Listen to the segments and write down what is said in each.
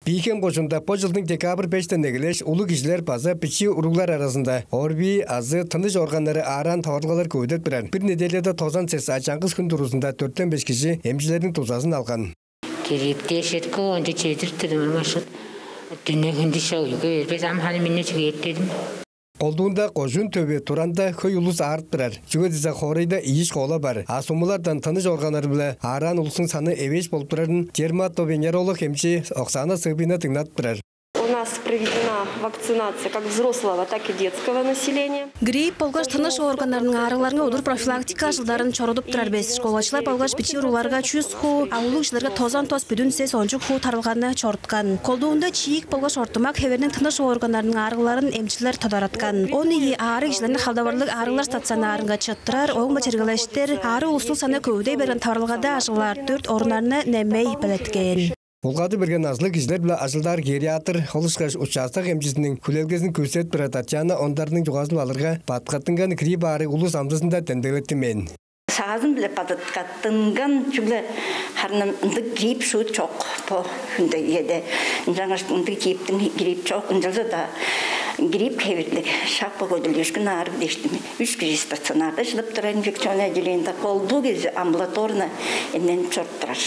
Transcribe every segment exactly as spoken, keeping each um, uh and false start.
Бии-Хем кожуунда бо чылдың декабрь бештен эгелээш улуг кижилер база бичии уруглар аразында ОРВИ азы тыныш органнары аараан таварылгалар көвүдеп турар. Бир неделяда тозан сес, а чаңгыс хүн дургузунда дөртен беш кижи эмчилерниң дузазын алган. Кирипти эшетки онча чедирип турдум, ам ашык дүне хүндү шоу юга бербес, ам ханы минне чүгээртедим. Колдуунда кожуун төвү туранда хөй улус аарып турар. Чүге дизе хоорайда ийи школа бар, а сумулардан тыныш органнары-биле аараан улустуң саны эвээш болуп турарын дерматовенеролог эмчи Оксана Сыгбина дыңнадып турар. У нас проведена вакцинация как взрослого, так и детского населения. Грипп болгаш тыныш органнарның аарыгларынга удур профилактика ажылдарын чорудуп турар бис. Школачылар болгаш бичии уругларга чүс хуу, а улуг кижилерге тозан тос бүдүн сес ончук хуу тарылганы чоруткан. Колдуунда чиик болгаш ортумак хеверниң тыныш органнарының аарыгларын эмчилер тодараткан. Он ийи аарыг кижилерни халдавырлыг аарыглар стационарынга чыттырар, ооң-биле чергелештир аарыг улустуң саны көвүдей берген таварылгада ажыглаар дөрт оруннарны немей белеткээн. Улгады берген назылыг кижилер-биле ажылдаар гериатр, ол ышкаш участок эмчизиниң хүлээлгезин күүседип турар Татьяна Ондарның чугаазын алырга, бадыткаттынган грипп аарыг улус амдызында демдеглеттинмээн. Саазын-биле бадыткаттынган, чүгле харын ындыг грипп шуут чок бо хүнде, иеде. Ынчангаш ындыг грипптиң грипп чок, ынчалза-даа грипп хевирлиг шак бо көдүрлүүшкүн аарыг дээштиң. Үш кижи стационарда шыдап турар, инфекционное отделениеде, колдуу кижи амбулаторно эмненип чоруп турар.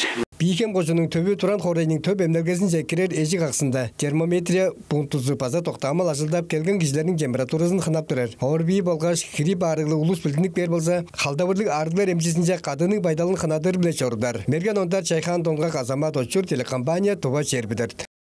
Бии-Хем кожууннуң төвү Туран хоорайның төп эмнелгезинче кирер эжик аксында термометрия пунктузу база доктаамал ажылдап, келген кижилерниң температуразын хынап турар. ОРВИ болгаш грипп аарыглыг улус билдинип кээр болза, халдавырлыг аарыглар эмчизинче кадыының байдалын хынадыр-биле чорудар. Мерген Ондар, Чайхаан Донгак, Азамат Очур, телекомпания «Тыва чээрби дөрт».